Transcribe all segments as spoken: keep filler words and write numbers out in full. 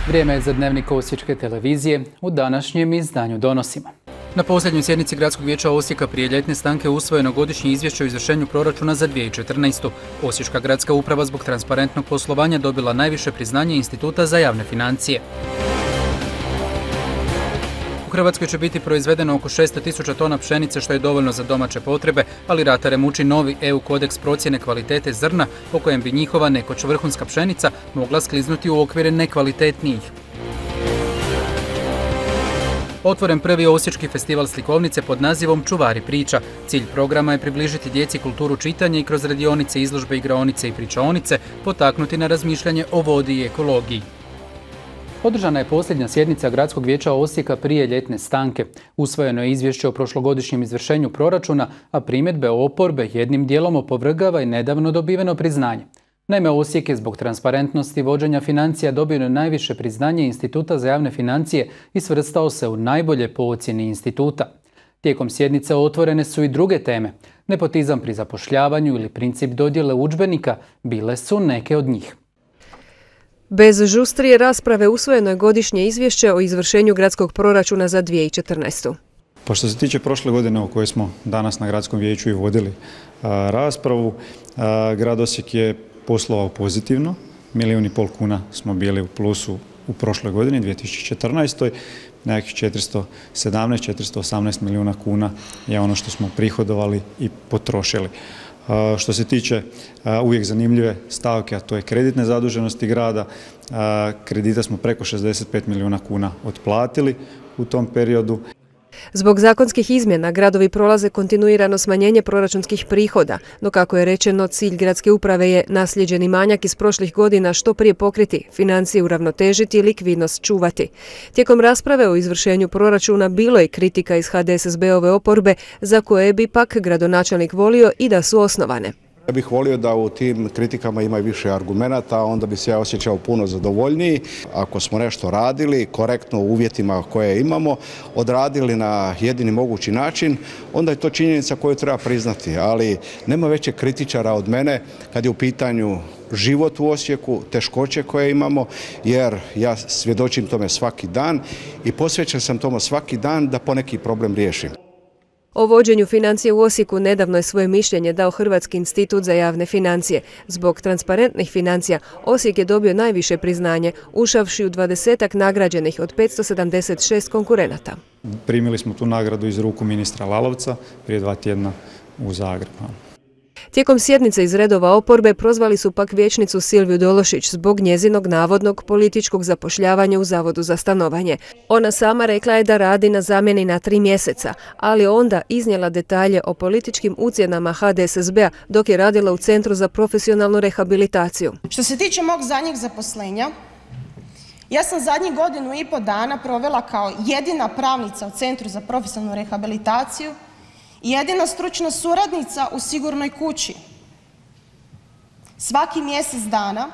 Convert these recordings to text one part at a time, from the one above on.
Vrijeme je za dnevnik Osječke televizije. U današnjem izdanju donosimo. Na posljednjoj sjednici Gradskog vijeća Osijeka prije ljetne stanke usvojeno godišnje izvješće o izvršenju proračuna za dvije tisuće četrnaestu. Osječka gradska uprava zbog transparentnog poslovanja dobila najviše priznanje Instituta za javne financije. U Hrvatskoj će biti proizvedeno oko šesto tisuća tona pšenice, što je dovoljno za domaće potrebe, ali ratare muči novi E U kodeks procjene kvalitete zrna, po kojem bi njihova nekoć vrhunska pšenica mogla skliznuti u okvire nekvalitetnijih. Otvoren prvi osječki festival slikovnice pod nazivom Čuvari priča. Cilj programa je približiti djeci kulturu čitanja i kroz radionice, izložbe, igraonice i pričaonice potaknuti na razmišljanje o vodi i ekologiji. Održana je posljednja sjednica Gradskog vijeća Osijeka prije ljetne stanke. Usvojeno je izvješće o prošlogodišnjem izvršenju proračuna, a primjedbe oporbe jednim dijelom opovrgava i nedavno dobiveno priznanje. Naime, Osijek je zbog transparentnosti vođenja financija dobio najviše priznanje Instituta za javne financije i svrstao se u najbolje po ocjeni instituta. Tijekom sjednice otvorene su i druge teme. Nepotizam pri zapošljavanju ili princip dodjele udžbenika bile su neke od njih. Bez žustrije rasprave usvojeno je godišnje izvješće o izvršenju gradskog proračuna za dvije tisuće četrnaestu. Pa što se tiče prošle godine o kojoj smo danas na Gradskom vijeću i vodili a, raspravu, a, grad Osijek je poslovao pozitivno. Milijun i pol kuna smo bili u plusu u prošloj godini, dvije tisuće četrnaestoj. Nekakvih četiristo sedamnaest, četiristo osamnaest milijuna kuna je ono što smo prihodovali i potrošili. Što se tiče uvijek zanimljive stavke, a to je kreditne zaduženosti grada, kredita smo preko šezdeset pet milijuna kuna otplatili u tom periodu. Zbog zakonskih izmjena gradovi prolaze kontinuirano smanjenje proračunskih prihoda, no kako je rečeno, cilj gradske uprave je naslijeđeni manjak iz prošlih godina što prije pokriti, financije uravnotežiti i likvidnost čuvati. Tijekom rasprave o izvršenju proračuna bilo je kritika iz H D S S B-ove oporbe, za koje bi pak gradonačelnik volio i da su osnovane. Ja bih volio da u tim kritikama ima više argumenata, onda bi se ja osjećao puno zadovoljniji. Ako smo nešto radili korektno u uvjetima koje imamo, odradili na jedini mogući način, onda je to činjenica koju treba priznati. Ali nema većeg kritičara od mene kad je u pitanju život u Osijeku, teškoće koje imamo, jer ja svjedočim tome svaki dan i posvećen sam tome svaki dan da poneki problem riješim. O vođenju financije u Osijeku nedavno je svoje mišljenje dao Hrvatski institut za javne financije. Zbog transparentnih financija Osijek je dobio najviše priznanje, ušavši u dvadesetak nagrađenih od petsto sedamdeset šest konkurenata. Primili smo tu nagradu iz ruku ministra Lalovca prije dva tjedna u Zagrebu. Tijekom sjednice iz redova oporbe prozvali su pak vijećnicu Silviju Dološić zbog njezinog navodnog političkog zapošljavanja u Zavodu za stanovanje. Ona sama rekla je da radi na zamjeni na tri mjeseca, ali onda iznijela detalje o političkim ucjenama H D S S B-a dok je radila u Centru za profesionalnu rehabilitaciju. Što se tiče mog zadnjeg zaposlenja, ja sam zadnjih godinu i pol dana provela kao jedina pravnica u Centru za profesionalnu rehabilitaciju i jedina stručna suradnica u Sigurnoj kući. Svaki mjesec dana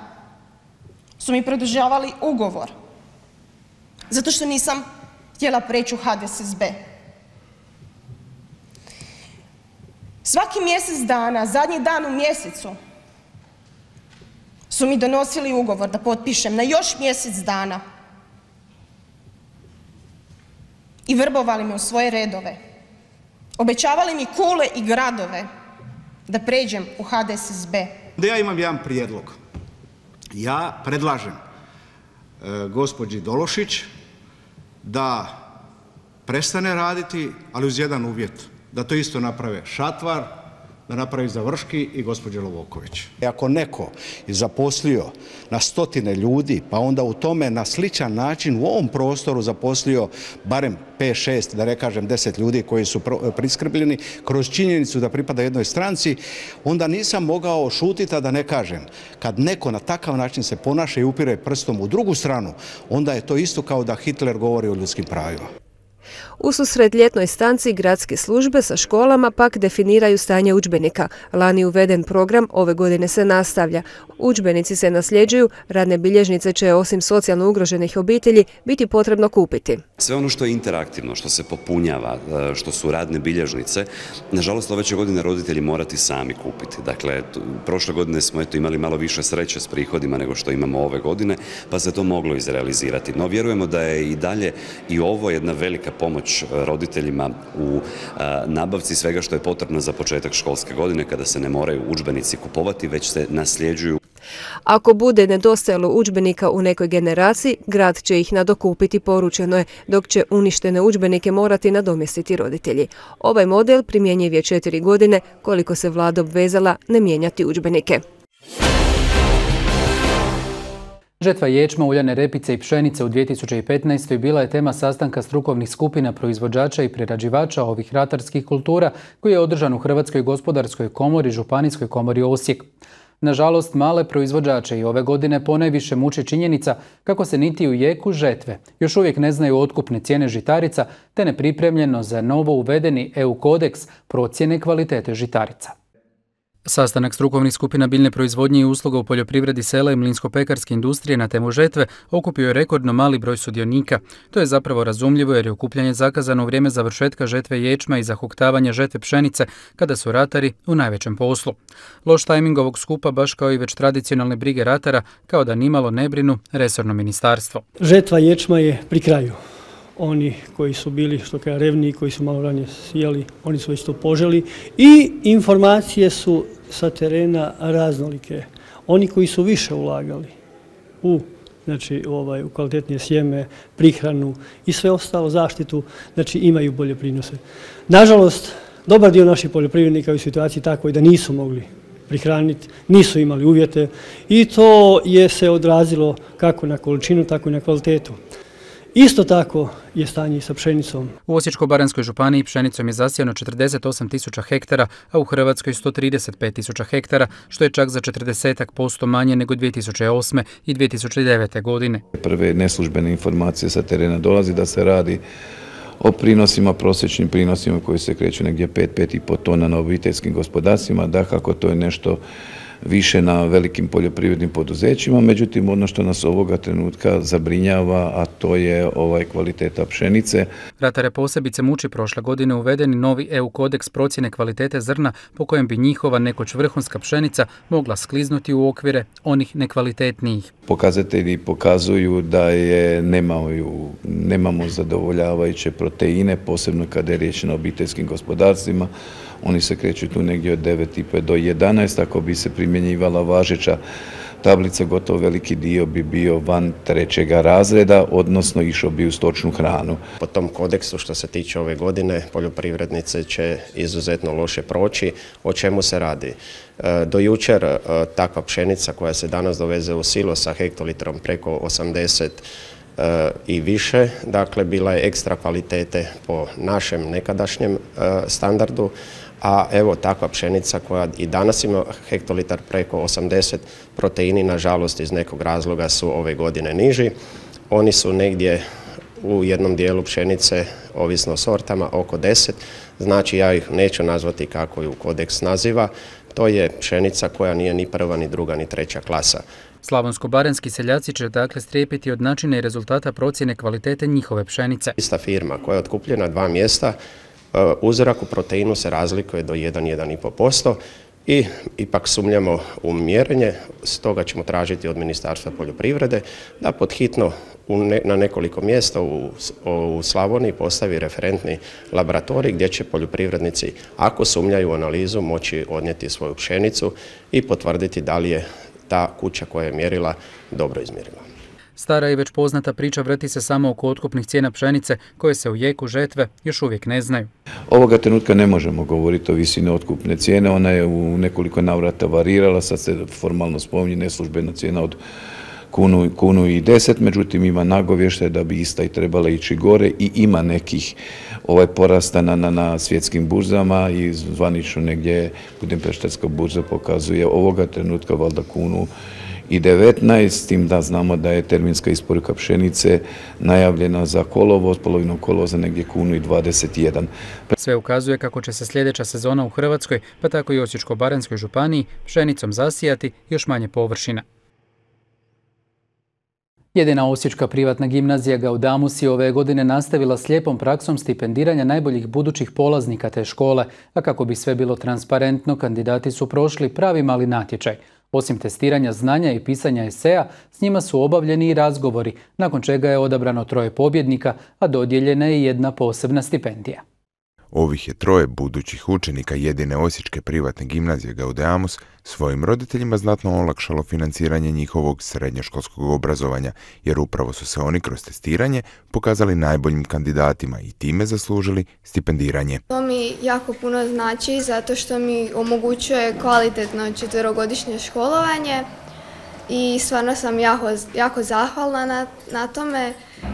su mi produžavali ugovor, zato što nisam htjela preći u H D S S B. Svaki mjesec dana, zadnji dan u mjesecu, su mi donosili ugovor da potpišem na još mjesec dana i vrbovali me u svoje redove. Obećavali mi kule i gradove da pređem u H D S S B. Da ja imam jedan prijedlog. Ja predlažem e, gospođi Dološić da prestane raditi, ali uz jedan uvjet. Da to isto naprave Šatvar, da napravi Završki i gospođa Lovoković. Ako neko je zaposlio na stotine ljudi, pa onda u tome na sličan način u ovom prostoru zaposlio barem pet šest, da ne kažem deset ljudi koji su priskrbljeni kroz činjenicu da pripada jednoj stranci, onda nisam mogao šutiti, a da ne kažem. Kad neko na takav način se ponaša i upire prstom u drugu stranu, onda je to isto kao da Hitler govori o ljudskim pravima. Ususret ljetnoj stanci gradske službe sa školama pak definiraju stanje udžbenika. Lani uveden program, ove godine se nastavlja. Udžbenici se nasljeđuju, radne bilježnice će osim socijalno ugroženih obitelji biti potrebno kupiti. Sve ono što je interaktivno, što se popunjava, što su radne bilježnice, nažalost ove će godine roditelji morati sami kupiti. Dakle, prošle godine smo eto imali malo više sreće s prihodima nego što imamo ove godine, pa se to moglo izrealizirati. No vjerujemo da je i dalje i ovo jedna velika pomoć roditeljima u nabavci svega što je potrebno za početak školske godine, kada se ne moraju udžbenici kupovati, već se nasljeđuju. Ako bude nedostajalo udžbenika u nekoj generaciji, grad će ih nadokupiti, poručeno je, dok će uništene udžbenike morati nadomjestiti roditelji. Ovaj model primjenjiv je četiri godine, koliko se vlada obvezala ne mijenjati udžbenike. Žetva ječma, uljane repice i pšenice u dvije tisuće petnaestoj. bila je tema sastanka strukovnih skupina proizvođača i prerađivača ovih ratarskih kultura koji je održan u Hrvatskoj gospodarskoj komori, Županijskoj komori Osijek. Nažalost, male proizvođače i ove godine ponajviše muči činjenica kako se niti u jeku žetve još uvijek ne znaju otkupne cijene žitarica te nepripremljeno za novo uvedeni E U kodeks procjene kvalitete žitarica. Sastanak strukovnih skupina biljne proizvodnje i usluga u poljoprivredi, sela i mlinsko-pekarske industrije na temu žetve okupio je rekordno mali broj sudionika. To je zapravo razumljivo jer je okupljanje zakazano u vrijeme završetka žetve ječma i zahuktavanja žetve pšenice kada su ratari u najvećem poslu. Loš tajming ovog skupa, baš kao i već tradicionalne brige ratara, kao da nimalo ne brinu resorno ministarstvo. Žetva ječma je pri kraju. Oni koji su bili što kaže revniji, koji su malo ranije sjeli, oni su već to poželi i informacije su sa terena raznolike. Oni koji su više ulagali u, znači, ovaj, u kvalitetnije sjeme, prihranu i sve ostalo, zaštitu, znači imaju bolje prinose. Nažalost, dobar dio naših poljoprivrednika je u situaciji takvoj da nisu mogli prihraniti, nisu imali uvjete i to je se odrazilo kako na količinu, tako i na kvalitetu. Isto tako je stanje i sa pšenicom. U Osječko-baranjskoj županiji pšenicom je zasijano četrdeset osam tisuća hektara, a u Hrvatskoj sto trideset pet tisuća hektara, što je čak za četrdeset posto manje nego dvije tisuće osme i dvije tisuće devete. godine. Prve neslužbene informacije sa terena dolazi da se radi o prinosima, prosječnim prinosima koji se kreću negdje pet do pet i pol tona na obiteljskim gospodarstvima. Dakako, to je nešto više na velikim poljoprivrednim poduzećima, međutim ono što nas ovoga trenutka zabrinjava, a to je ovaj kvaliteta pšenice. Ratare posebice muči prošle godine uvedeni novi E U kodeks procjene kvalitete zrna po kojem bi njihova nekoć vrhunska pšenica mogla skliznuti u okvire onih nekvalitetnijih. Pokazatelji pokazuju da je nemaju, nemamo zadovoljavajuće proteine, posebno kada je riječ na obiteljskim gospodarstvima. Oni se kreću tu negdje od devet i pol do jedanaest, ako bi se primjenjivala važeća tablica, gotovo veliki dio bi bio van trećega razreda, odnosno išao bi u stočnu hranu. Po tom kodeksu što se tiče ove godine, poljoprivrednice će izuzetno loše proći. O čemu se radi? Do jučer takva pšenica koja se danas doveze u silo sa hektolitrom preko osamdeset i više, dakle bila je ekstra kvalitete po našem nekadašnjem standardu, a evo takva pšenica koja i danas ima hektolitar preko osamdeset, proteini nažalost iz nekog razloga su ove godine niži. Oni su negdje u jednom dijelu pšenice, ovisno o sortama, oko deset, znači ja ih neću nazvati kako ju kodeks naziva, to je pšenica koja nije ni prva, ni druga, ni treća klasa. Slavonsko-baranjski seljaci će dakle strijepiti od načina i rezultata procjene kvalitete njihove pšenice. Ista firma koja je otkupljena dva mjesta, uzorak u proteinu se razlikuje do jedan do jedan i pol posto i ipak sumnjamo u mjerenje, stoga ćemo tražiti od Ministarstva poljoprivrede da podhitno na nekoliko mjesta u, u Slavoniji postavi referentni laboratorij gdje će poljoprivrednici, ako sumnjaju u analizu, moći odnijeti svoju pšenicu i potvrditi da li je ta kuća koja je mjerila dobro izmjerila. Stara i već poznata priča vrti se samo oko otkupnih cijena pšenice koje se u jeku žetve još uvijek ne znaju. Ovoga trenutka ne možemo govoriti o visini otkupne cijene, ona je u nekoliko navrata varirala, sad se formalno spominje neslužbena cijena od kunu, kunu i deset, međutim ima nagovještaj da bi ista i trebala ići gore i ima nekih ovaj porasta na, na, na svjetskim burzama i zvanično negdje Budimpeštanska burza pokazuje ovoga trenutka valjda kunu devetnaest, s tim da znamo da je terminska isporuka pšenice najavljena za kolovoz, polovinom kolovoza negdje kunu i dvadeset jedan. Sve ukazuje kako će se sljedeća sezona u Hrvatskoj, pa tako i Osječko-baranjskoj županiji, pšenicom zasijati još manje površina. Jedina osječka privatna gimnazija Gaudamus je ove godine nastavila slijepom praksom stipendiranja najboljih budućih polaznika te škole, a kako bi sve bilo transparentno, kandidati su prošli pravi mali natječaj. Osim testiranja znanja i pisanja eseja, s njima su obavljeni i razgovori, nakon čega je odabrano troje pobjednika, a dodijeljena je jedna posebna stipendija. Ovih je troje budućih učenika jedine osječke privatne gimnazije Gaudeamus svojim roditeljima znatno olakšalo financiranje njihovog srednjoškolskog obrazovanja, jer upravo su se oni kroz testiranje pokazali najboljim kandidatima i time zaslužili stipendiranje. To mi jako puno znači zato što mi omogućuje kvalitetno četverogodišnje školovanje i stvarno sam jako, jako zahvalna na, na tome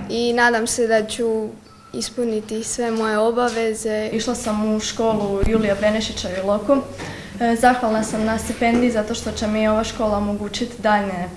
i nadam se da ću ispuniti sve moje obaveze. Išla sam u školu Julija Benešića u Iloku. Zahvalna sam na stipendiji zato što će mi ova škola omogućiti daljnje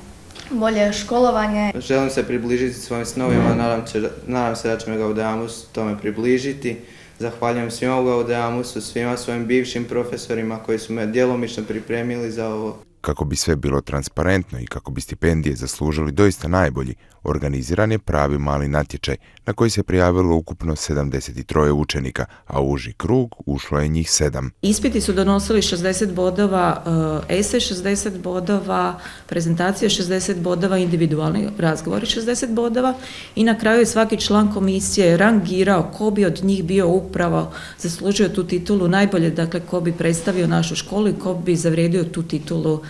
bolje školovanje. Želim se približiti svojim snovima, nadam, će, nadam se da će me Gaudeamus tome približiti. Zahvaljujem svima u Gaudeamusu, svima svojim bivšim profesorima koji su me djelomično pripremili za ovo. Kako bi sve bilo transparentno i kako bi stipendije zaslužili doista najbolji, organiziran je pravi mali natječaj na koji se prijavilo ukupno sedamdeset troje učenika, a u uži krug ušlo je njih sedam. Ispiti su donosili šezdeset bodova, esej šezdeset bodova, prezentacija šezdeset bodova, individualni razgovori šezdeset bodova i na kraju je svaki član komisije rangirao ko bi od njih bio upravo zaslužio tu titulu najbolje, dakle ko bi predstavio našu školu i ko bi zavrijedio tu titulu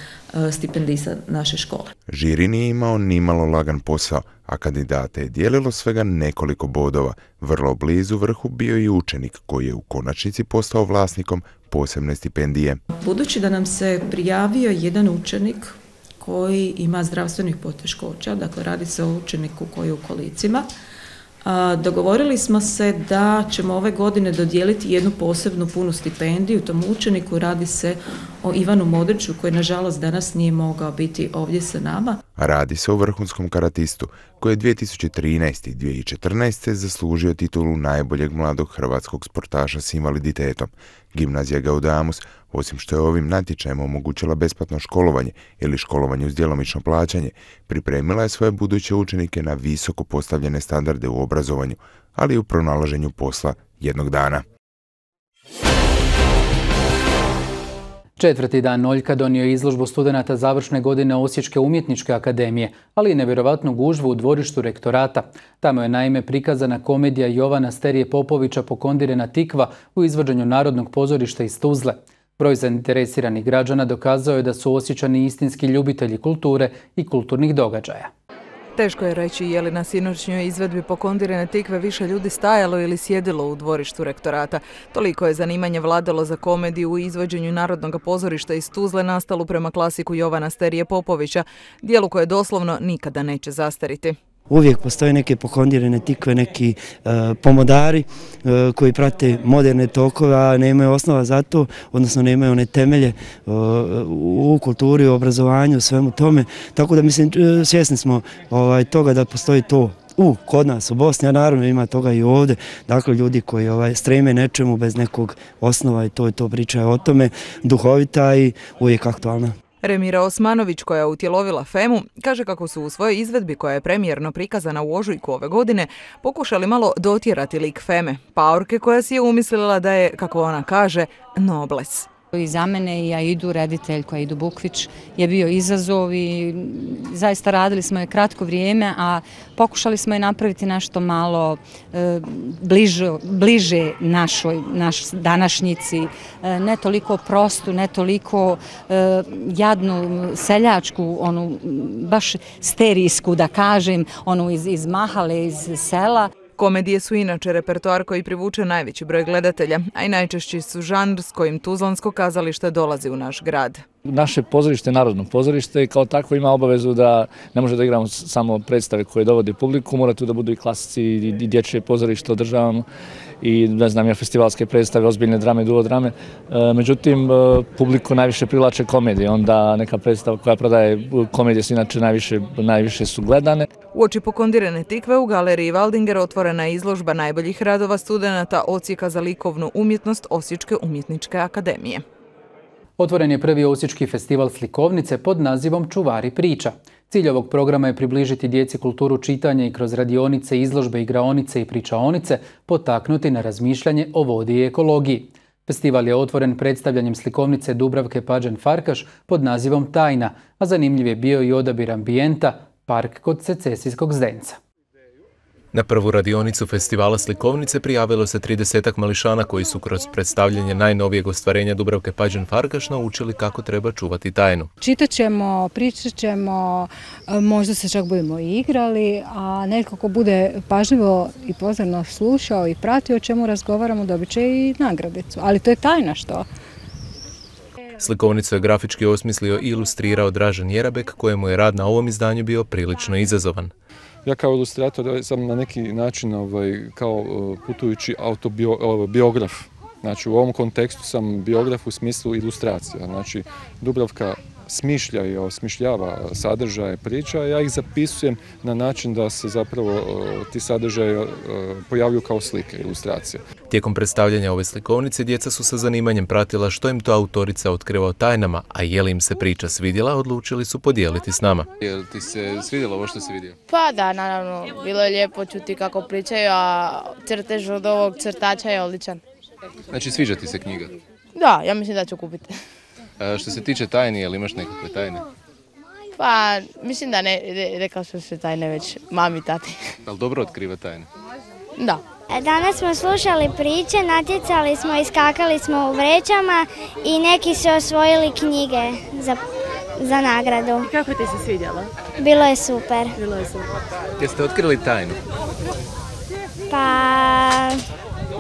stipendista naše škole. Žiri nije imao nimalo lagan posao, a kandidate je dijelilo svega nekoliko bodova. Vrlo blizu vrhu bio i učenik koji je u konačnici postao vlasnikom posebne stipendije. Budući da nam se prijavio jedan učenik koji ima zdravstvenih poteškoća, dakle radi se o učeniku koji je u kolicima, dogovorili smo se da ćemo ove godine dodijeliti jednu posebnu punu stipendiju tom učeniku. Radi se o Ivanu Modriću koji nažalost danas nije mogao biti ovdje sa nama. Radi se o vrhunskom karatistu koji je dvije tisuće trinaeste. i dvije tisuće četrnaeste. zaslužio titulu najboljeg mladog hrvatskog sportaša s invaliditetom. Gimnazija Gaudeamus, osim što je ovim natječajem omogućila besplatno školovanje ili školovanje uz djelomično plaćanje, pripremila je svoje buduće učenike na visoko postavljene standarde u obrazovanju, ali i u pronalaženju posla jednog dana. Četvrti dan Noljka donio je izložbu studenata završne godine Osječke umjetničke akademije, ali i nevjerovatnu gužvu u dvorištu rektorata. Tamo je naime prikazana komedija Jovana Sterije Popovića Pokondirena tikva u izvođenju Narodnog pozorišta iz Tuzle. Broj zainteresiranih građana dokazao je da su Osječani istinski ljubitelji kulture i kulturnih događaja. Teško je reći je li na sinoćnjoj izvedbi Pokondirene tikve više ljudi stajalo ili sjedilo u dvorištu rektorata. Toliko je zanimanje vladalo za komediju u izvođenju Narodnog pozorišta iz Tuzle nastalu prema klasiku Jovana Sterije Popovića, dijelu koje doslovno nikada neće zastariti. Uvijek postoje neke pokondirene tikve, neki uh, pomodari uh, koji prate moderne tokove, a nemaju osnova za to, odnosno nemaju one temelje uh, u kulturi, u obrazovanju, u svemu tome. Tako da mislim, uh, svjesni smo ovaj, toga da postoji to u kod nas u Bosni, a naravno ima toga i ovdje. Dakle, ljudi koji ovaj, streme nečemu bez nekog osnova i to i to priča o tome, duhovita i uvijek aktualna. Remira Osmanović, koja je utjelovila Femu, kaže kako su u svojoj izvedbi, koja je premijerno prikazana u ožujku ove godine, pokušali malo dotjerati lik Feme, paorke koja si je umislila da je, kako ona kaže, nobles. I za mene i Aidu, reditelj koja Aidu Bukvić, je bio izazov i zaista radili smo je kratko vrijeme, a pokušali smo je napraviti nešto malo e, bliže, bliže našoj, naš današnjici, e, ne toliko prostu, ne toliko e, jadnu seljačku, onu baš sterijsku da kažem, onu iz, iz mahale, iz sela. Komedije su inače repertoar koji privuče najveći broj gledatelja, a i najčešći su žanr s kojim Tuzlansko kazalište dolazi u naš grad. Naše pozorište je narodno pozorište i kao takvo ima obavezu da ne može da igramo samo predstave koje dovode publiku, mora tu da budu i klasici i dječje pozorište održavamo i ne znam ja festivalske predstave, ozbiljne drame, duo drame. Međutim, publiku najviše privlače komedije, onda neka predstava koja prodaje komedije su inače najviše, najviše su gledane. Uoči pokondirane tikve u galeriji Waldinger otvorena je izložba najboljih radova studenata Odsjeka za likovnu umjetnost Osječke umjetničke akademije. Otvoren je prvi osječki festival slikovnice pod nazivom Čuvari priča. Cilj ovog programa je približiti djeci kulturu čitanja i kroz radionice, izložbe, igraonice i pričaonice potaknuti na razmišljanje o vodi i ekologiji. Festival je otvoren predstavljanjem slikovnice Dubravke Pađen-Farkaš pod nazivom Tajna, a zanimljiv je bio i odabir ambijenta Park kod Secesijskog zdenca. Na prvu radionicu festivala slikovnice prijavilo se tridesetak mališana koji su kroz predstavljanje najnovijeg ostvarenja Dubravke Pađen-Farkaš naučili kako treba čuvati tajnu. Čitat ćemo, pričat ćemo, možda se čak budemo igrali, a netko ko bude pažljivo i pozorno slušao i pratio o čemu razgovaramo dobit će i nagradicu. Ali to je tajna što? Slikovnicu je grafički osmislio i ilustrirao Dražen Jerabek, kojemu je rad na ovom izdanju bio prilično izazovan. Ja kao ilustrator sam na neki način ovaj, kao putujući autobiograf. Znači u ovom kontekstu sam biograf u smislu ilustracija. Znači Dubravka smišlja i osmišljava sadržaje priča, a ja ih zapisujem na način da se zapravo ti sadržaje pojavljuju kao slike, ilustracije. Tijekom predstavljanja ove slikovnice djeca su sa zanimanjem pratila što im to autorica otkriva o tajnama, a je li im se priča svidjela, odlučili su podijeliti s nama. Je li ti se svidjelo ovo što si vidio? Pa da, naravno, bilo je lijepo čuti kako pričaju, a crtež od ovog crtača je odličan. Znači sviđa ti se knjiga? Da, ja mislim da ću kupiti. A što se tiče tajni, je li imaš nekakve tajne? Pa, mislim da ne, rekao sam se tajne već mami i tati. Ali dobro otkriva tajne? Da. Danas smo slušali priče, natjecali smo, iskakali smo u vrećama i neki su osvojili knjige za, za nagradu. Kako ti se svidjelo? Bilo je super. Bilo je super. Jeste otkrili tajnu? Pa,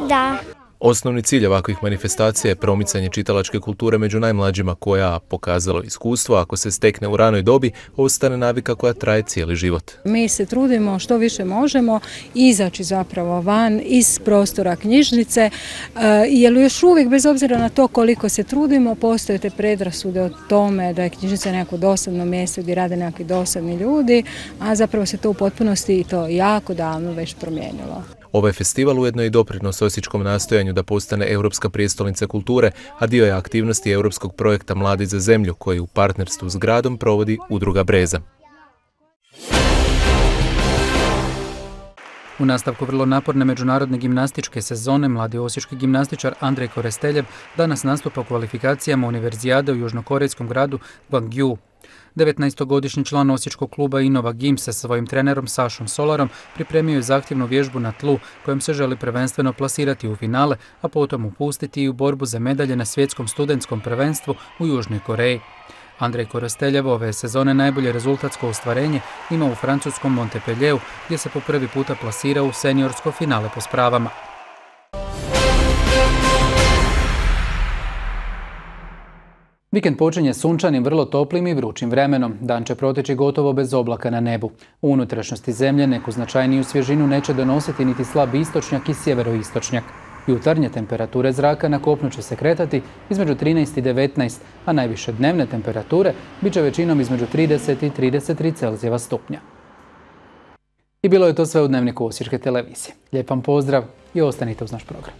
da. Osnovni cilj ovakvih manifestacija je promicanje čitalačke kulture među najmlađima koja, pokazalo iskustvo, ako se stekne u ranoj dobi, ostane navika koja traje cijeli život. Mi se trudimo što više možemo izaći zapravo van iz prostora knjižnice, jer još uvijek, bez obzira na to koliko se trudimo, postoje te predrasude o tome da je knjižnica neko dosadno mjesto gdje rade nekakvi dosadni ljudi, a zapravo se to u potpunosti i to jako davno već promijenilo. Ovaj festival ujedno je i doprinos osječkom nastojanju da postane Europska prijestolnica kulture, a dio je aktivnosti europskog projekta Mladi za zemlju koji u partnerstvu s gradom provodi Udruga Breza. U nastavku vrlo naporne međunarodne gimnastičke sezone mladi osječki gimnastičar Andrej Koresteljev danas nastupa u kvalifikacijama univerzijade u južnokorejskom gradu Gwangju. devetnaestogodišnji član osječkog kluba Innova Gim sa svojim trenerom Sašom Solarom pripremio je zahtjevnu vježbu na tlu kojom se želi prvenstveno plasirati u finale, a potom upustiti i u borbu za medalje na svjetskom studentskom prvenstvu u Južnoj Koreji. Andrej Koresteljev ove sezone najbolje rezultatsko ostvarenje ima u francuskom Montpellieru gdje se po prvi puta plasirao u seniorsko finale po spravama. Vikend počinje sunčanim, vrlo toplim i vrućim vremenom. Dan će proteći gotovo bez oblaka na nebu. U unutrašnjosti zemlje neku značajniju svježinu neće donositi niti slab istočnjak i sjeveroistočnjak. Jutarnje temperature zraka na kopnu će se kretati između trinaest i devetnaest, a najviše dnevne temperature bit će većinom između trideset i trideset tri Celzijeva stupnja. I bilo je to sve u Dnevniku Osječke televizije. Lijep vam pozdrav i ostanite uz naš program.